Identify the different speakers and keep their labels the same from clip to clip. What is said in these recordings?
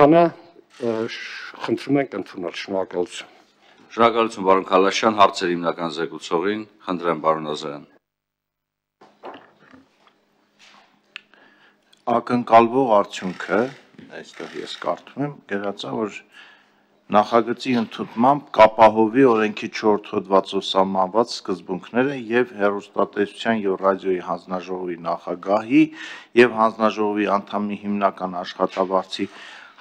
Speaker 1: կառավարությանը խնդրում ենք ընդունել, շնորհակալություն։
Speaker 2: Շնորհակալություն, պարոն Քալաշյան, հարցեր հիմնական զեկուցողին, խնդրեմ, պարոն Ազարյան։
Speaker 3: Ակնկալվող արդյունքը, այստեղ ես կարդում եմ, գրած է, որ նախագծի ընդունմամբ կապահովի օրենքի 4 հոդվածով սահմանված սկզբունքները եւ հեռուստատեսության եւ ռադիոյի հանձնաժողովի նախագահի եւ հանձնաժողովի անդամի հիմնական աշխատավարձի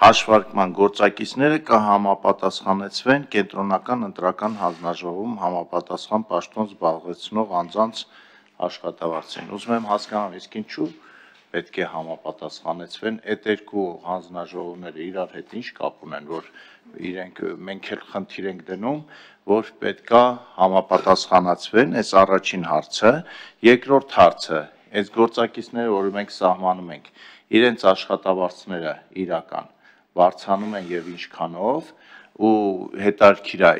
Speaker 3: հաշվարկման գործակիցները կհամապատասխանեցվեն կենտրոնական ընտրական հանձնաժողովում համապատասխան պաշտոն զբաղեցնող անձանց աշխատավարձին։ Ուզում եմ հասկանալ, իսկ ինչու պետք է համապատասխանեցվեն այդ երկու հանձնաժողովները իրար հետ ինչ կապ ունեն, որ մենք էլ խնդիր ենք դնում, որ պետքա համապատասխանեցվեն, այս առաջին հարցը, երկրորդ հարցը, այս գործակիցները, որ մենք սահմանում ենք, իրենց աշխատավարձները իրական բարձրանում են եւ ինչքանով ու հետարքիր է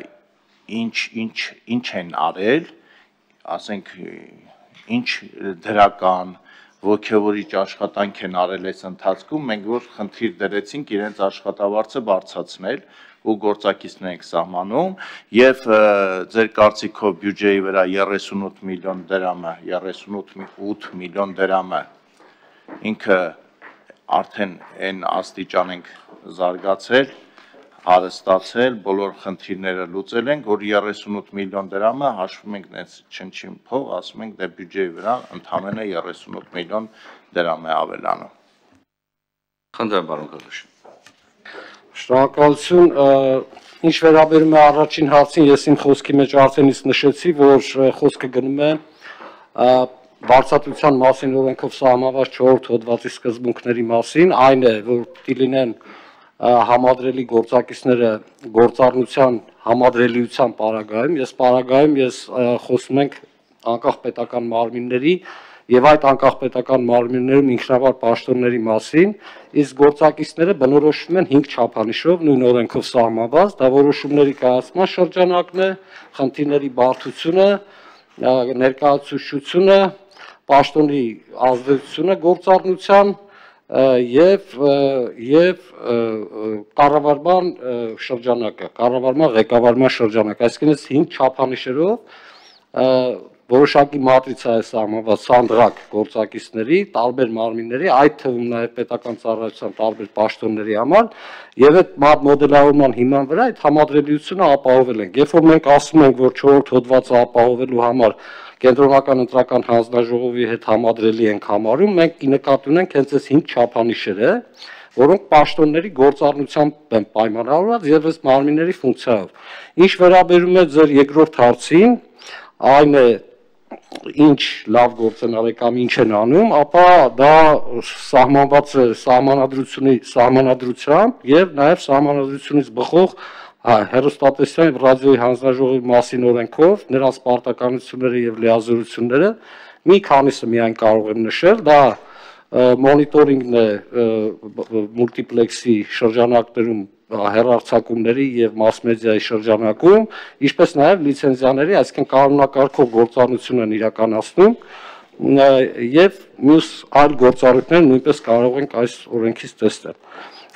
Speaker 3: ինչ են արել, ասենք ինչ դրական ոգևորիչ աշխատանք են արել այս ընթացքում, մենք որ խնդիր դրեցինք իրենց աշխատավարձը բարձրացնել ու գործակիցներ ենք սահմանում եւ ձեր կարծիքով բյուջեի վրա 38 միլիոն դրամը 38 միլիոն դրամը ինքը արդեն այն աստիճան ենք զարգացել, հարստացել, բոլոր խնդիրները լուծել ենք, որ 38 միլիոն դրամը հաշվում ենք նենց չնչին փող, ասում ենք դե բյուջեի վրա ընդամենը 38 միլիոն դրամ է ավելանում։
Speaker 2: Խնդրեմ, պարոն Քալաշյան։
Speaker 1: Շնորհակալություն, ինչ վերաբերում է առաջին հարցին, ես իմ խոսքի մեջ արդեն իսկ նշեցի, որ խոսքը գնում է վարձատրության մասին օրենքով սահմանված 4 հոդվածի սկզբունքների մասին, այն է, որ պիտի լինեն համադրելի գործակիցները գործառնության համադրելիության պարագայում, ես խոսում ենք անկախ պետական մարմինների եւ այդ անկախ պետական մարմիններում ինքնավար պաշտոնների մասին, իսկ գործակիցները բնորոշվում են 5 չափանիշով նույն օրենքով սահմանված, դա որոշումների կայացման շրջանակն է, խնդիրների բարդությունը, ներկայացուցչությունը, պաշտոնի ազդեցությունը գործառնության եւ կառավարման շրջանակը, կառավարման ղեկավարման շրջանակը, այսինքն այս 5 չափանիշերով որոշակի մատրիցա է սահմանված սանդղակ գործակիցների, տարբեր մարմինների, այդ թվում նաև պետական ծառայության տարբեր պաշտոնների համար, եւ այդ մոդելավորման հիման վրա այդ համադրելիությունը ապահովել ենք։ Երբ որ մենք ասում ենք, որ 4 հոդվածը ապահովելու համար կենտրոնական ընտրական հանձնաժողովի հետ համադրելի ենք համարում, մենք ի նկատի ունենք հենց այս 5 չափանիշերը, որոնք պաշտոնների գործառնությամբ են պայմանավորված եւ այս մարմինների ֆունկցիայով։ Ինչ վերաբերում է ձեր երկրորդ հարցին, այն է ինչ լավ գործ են արել կամ ինչ են անում, ապա դա սահմանված է սահմանադրությամբ եւ նաեւ սահմանադրությունից բխող հեռուստատեսության եւ ռադիոյի հանձնաժողովի մասին օրենքով, նրանց պարտականությունները եւ լիազորությունները մի քանիսը միայն կարող եմ նշել, դա մոնիտորինգն է մուլտիպլեքսի շրջանակներում հեռարձակումների եւ մաս-մեդիայի շրջանակում, ինչպես նաեւ լիցենզիաների, այսինքն կանոնակարգող գործառնություն են իրականացնում եւ մյուս այլ գործառույթներ նույնպես կարող ենք այս օրենքից տեսնել։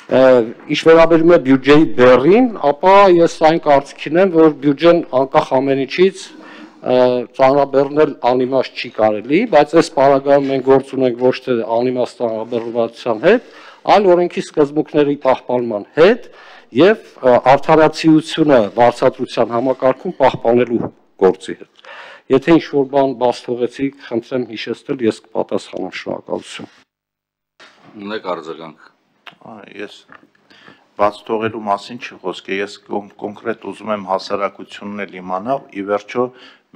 Speaker 1: Ինչ վերաբերում է բյուջեի բեռին, ապա ես այն կարծիքին եմ, որ բյուջեն անկախ ամեն ինչից ծանրաբեռնել անիմաստ չի կարելի, բայց այս պարագայում մենք գործ ունենք ոչ թե անիմաստ ծանրաբեռնվածության հետ, այլ օրենքի սկզբունքների պահպանման հետ եւ արդարացիությունը վարձատրության համակարգում պահպանելու գործի հետ։ Եթե ինչ-որ բան բաց թողեցի, խնդրեմ հիշեցնել, ես կպատասխանեմ, շնորհակալություն։
Speaker 2: Ունեք արձագանք։
Speaker 3: Ես բաց թողելու մասին չի խոսք, ես կոնկրետ ուզում եմ հասարակությունն էլ իմանալ, ի վերջո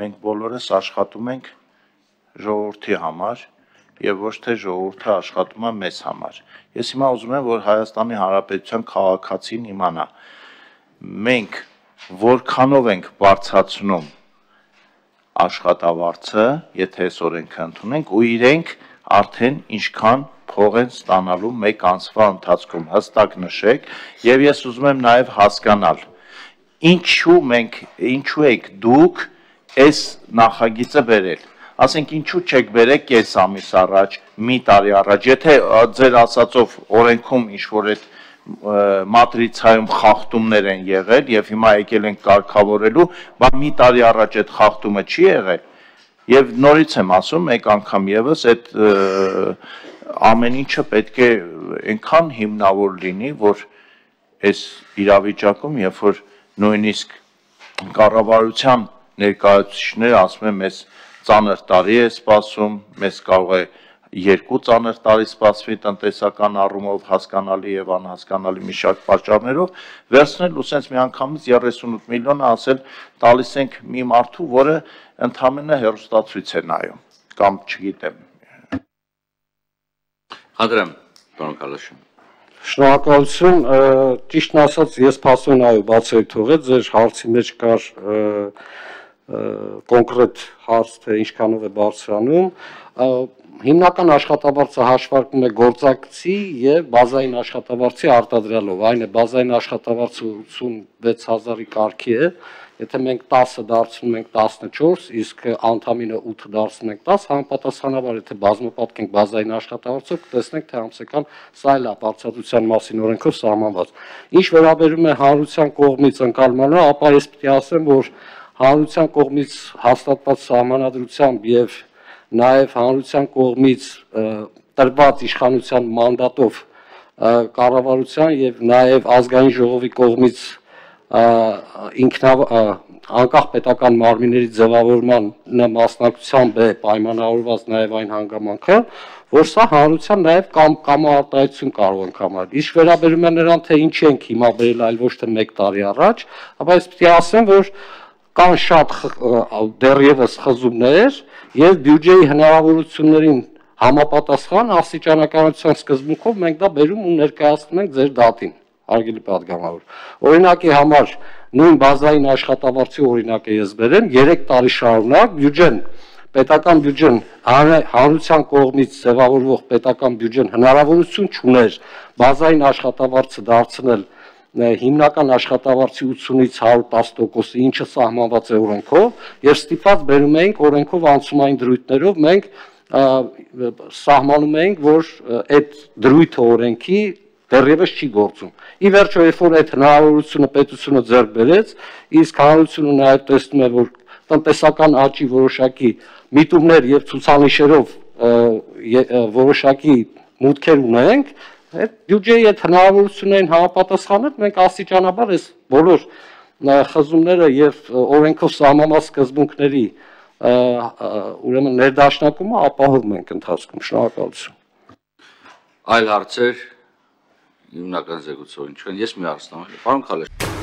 Speaker 3: մենք բոլորս աշխատում ենք ժողովրդի համար եւ ոչ թե ժողովուրդը աշխատում է մեզ համար։ Ես հիմա ուզում եմ, որ Հայաստանի Հանրապետության քաղաքացին իմանա, մենք որքանով ենք բարձրացնում աշխատավարձը, եթե այս օրենքը ընդունենք, ու իրենք արդեն ինչքան փող են ստանալու մեկ ամսվա ընթացքում, հստակ նշեք, եւ ես ուզում եմ նաեւ հասկանալ, ինչու եք դուք այս նախագիծը բերել։ Ասենք ինչու չեք բերել կես ամիս առաջ, մի տարի առաջ, եթե ձեր ասածով օրենքում ինչ որ այդ մատրիցայում խախտումներ են եղել եւ հիմա եկել ենք կարգավորելու, բայց մի տարի առաջ այդ խախտումը չի եղել եւ նորից եմ ասում, մեկ անգամ եւս այդ ամեն ինչը պետք է այնքան հիմնավոր լինի, որ այս իրավիճակում, երբ որ նույնիսկ կառավարության ներկայացուցիչները ասում են մեզ ծանր տարի է սպասում, մեզ կարող է 2 ծանր տարի սպասվի տնտեսական առումով հասկանալի եւ անհասկանալի մի շարք պատճառներով, վերցնել ու սենց միանգամից 38 միլիոնը ասել տալիս ենք մի մարդու, որը ընդամենը հեռուստացույց է նայում, կամ չգիտեմ։
Speaker 2: Խնդրեմ, պարոն Քալաշյան։
Speaker 1: Շնորհակալություն, ճիշտն ասած, ես փաստորեն այո բացի թողեց, ձեր հարցի մեջ կար կոնկրետ հարց, թե ինչքանով է բարձրանում, հիմնական աշխատավարձը հաշվարկվում է գործակցի եւ բազային աշխատավարձի արտադրյալով, այն է բազային աշխատավարձը 86,000-ի կարգի է, եթե մենք 10-ը դարձնում ենք 14, իսկ անդամինը 8 դարձնում ենք 10, համապատասխանաբար եթե բազմապատկենք բազային աշխատավարձով, կտեսնենք, թե ամսական սա էլ ապարծատության մասին օրենքով սահմանված։ Ինչ վերաբերում է հանրության կողմից ընկալմանը, ապա ես պիտի ասեմ, որ հանրության կողմից հաստատված սահմանադրությամբ եւ նաեւ հանրության կողմից տրված իշխանության մանդատով կառավարության եւ նաեւ ազգային ժողովի կողմից անկախ պետական մարմինների ձևավորման մասնակցությամբ է պայմանավորված նաեւ այն հանգամանքը, որ սա հանրության նաեւ կամարտահայտություն կարող ենք համարել։ Ինչ վերաբերում է նրան, թե ինչ ենք հիմա բերել, այլ ոչ թե 1 տարի առաջ, ապա ես պիտի ասեմ, որ կան շատ դեռևս խզումներ եւ բյուջեի հնարավորություններին համապատասխան աստիճանականության սկզբունքով մենք դա բերում ու ներկայացնում ենք ձեր դատին, հարգելի պատգամավոր։ Օրինակի համար նույն բազային աշխատավարձի օրինակը ես բերեմ, 3 տարի շարունակ բյուջեն, պետական բյուջեն, հանրության կողմից ձևավորվող պետական բյուջեն հնարավորություն չուներ բազային աշխատավարձը դարձնել հիմնական աշխատավարձի 80-ից 110%, ինչը սահմանված է օրենքով, եւ ստիպված բերում էինք օրենքով անցումային դրույթներով մենք սահմանում էինք, որ այդ դրույթը օրենքի դեռևս չի գործում։ Ի վերջո, երբ որ այդ հնարավորությունը պետությունը ձեռք բերեց, իսկ հանրությունը նաեւ տեսնում է, որ տնտեսական աճի որոշակի միտումներ եւ ցուցանիշերով որոշակի մուտքեր ունենք, այդ բյուջեի այդ հնարավորություններին համապատասխանել մենք աստիճանաբար այս բոլոր խզումները եւ օրենքով սահմանված սկզբունքների ուրեմն ներդաշնակումը ապահովում ենք ընթացքում։ Շնորհակալություն։
Speaker 2: Այլ հարցեր հիմնական զեկուցողին չկան, ես մի հարցնամ, պարոն Քալաշյան։